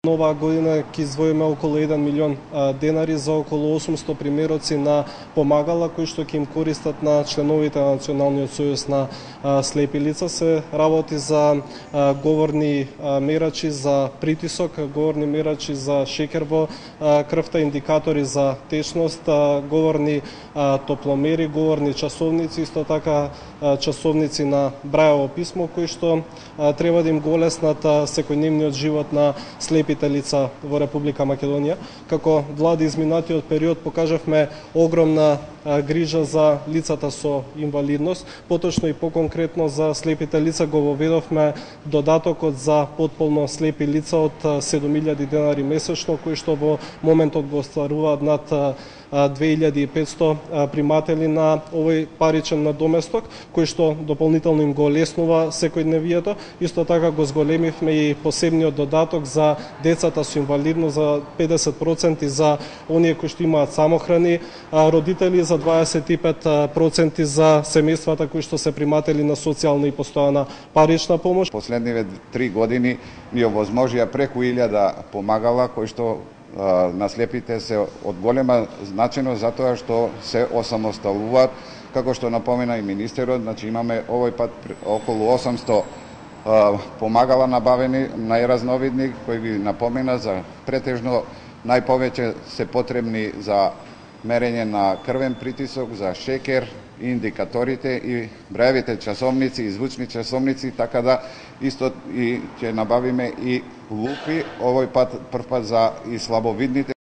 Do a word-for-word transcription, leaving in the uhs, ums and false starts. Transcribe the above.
Нова година ќе издвоиме околу еден милион денари за околу осумсто примероци на помагала кои што ќе им користат на членовите на Националниот сојуз на слепи лица. Се работи за говорни мерачи за притисок, говорни мерачи за шеќер во крвта, индикатори за течност, говорни топломери, говорни часовници, исто така часовници на Брајово писмо кои што треба да им го олеснат секојдневниот живот на слепи лица во Република Македонија. Како влада изминатиот период покажавме огромна грижа за лицата со инвалидност, поточно и поконкретно за слепите лица го воведовме додатокот за потполно слепи лица од седум илјади денари месечно, кои што во моментот го остваруваат над две илјади и петсто приматели на овој паричен надоместок, кој што дополнително им го олеснува секојдневието. Исто така го зголемивме и посебниот додаток за децата со инвалидност за педесет проценти за оние кои што имаат самохрани родители, за дваесет и пет проценти за семејствата кои што се приматели на социјална и постојана парична помош. Последниве три години ни овозможија преку илјада помагала кои што на слепите се од голема значеност затоа што се осамосталуваат, како што напомена и министерот, значи имаме овој пат околу осамсто помагала набавени, најразновидни, кои ги напомена за претежно најповеќе се потребни за мерење на крвен притисок, за шеќер, индикаторите и брајевите часовници и звучни часовници, така да исто и ќе набавиме и лупи, овој пат прв пат за и слабовидните